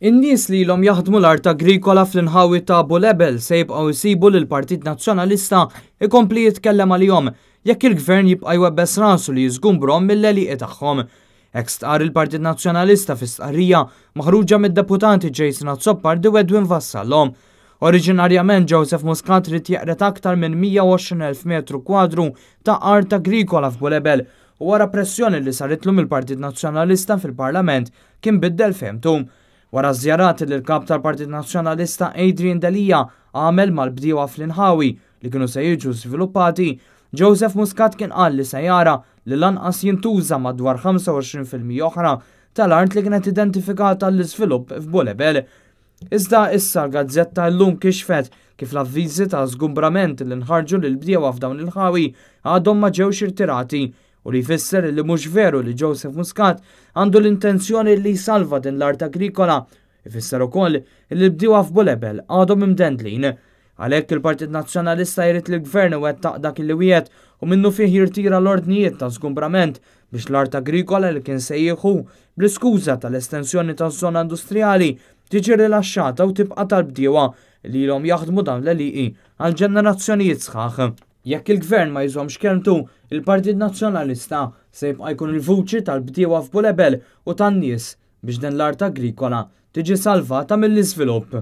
In-nies li ilhom jaħdmu l-art agrikola fl-inħawi ta' Bulebel se jibqgħu jsibu lill-Partit Nazzjonalista jkompli jitkellem għalihom jekk il-Gvern jibqa' jwebbes rasu li jiżgumbrhom mill-għelieqi tagħhom. Hekk stqarr il-Partit Nazzjonalista fi stqarrija maħruġa mid-Deputati Jason Azzopardi u Edwin Vassallo. Oriġinarjament Joseph Muscat ried jeqred aktar minn 120,000 metru kwadru ta' art agrikola f'Bulebel u wara pressjoni li saritlu mill-Partit Nazzjonalista fil-Parlament kien biddel fehmtu. Wara żjarat li l-kap tal-Partit Nazzjonalista Adrian Delia għamel mal-bdiewa fl-inħawi li kienu se jiġu żviluppati, Joseph Muscat kien qal li se jara li lanqas jintuża madwar 25% oħra tal-art li kienet identifikata għall-iżvilupp f'Bulebel. Iżda issa l-gazzetta Illum kixfet kif l-avviżi ta' żgumbrament li nħarġu lill-bdiewa f'dawn l-inħawi għadhom ma ġewx irtirati u li jfisser li mhux veru li Joseph Muscat għandu l-intenzjoni li jsalva din l-art agrikola. Ifisser ukoll li l-bdiewa f'Bulebel għadhom imdendlin. Għalhekk il-Partit Nazzjonalista jrid li l-Gvern iwettaq dak li wiegħed u minnufih jirtira l-ordnijiet ta' żgumbrament biex l-art agrikola li kien se jieħu bl-iskuża tal-estensjoni taż-żona industrijali tiġi rilaxxata u tibqa' tal-bdiewa li ilhom jaħdmu dawn l-għelieqi għal ġenerazzjonijiet sħaħ. Jekk il-Gvern ma jżommx kelmtu, il-Partit Nazzjonalista se jibqa' jkun il-vuċi tal-bdiewa f'Bulebel u tan-nies biex din l-art agrikola tiġi salvata mill-iżvilupp.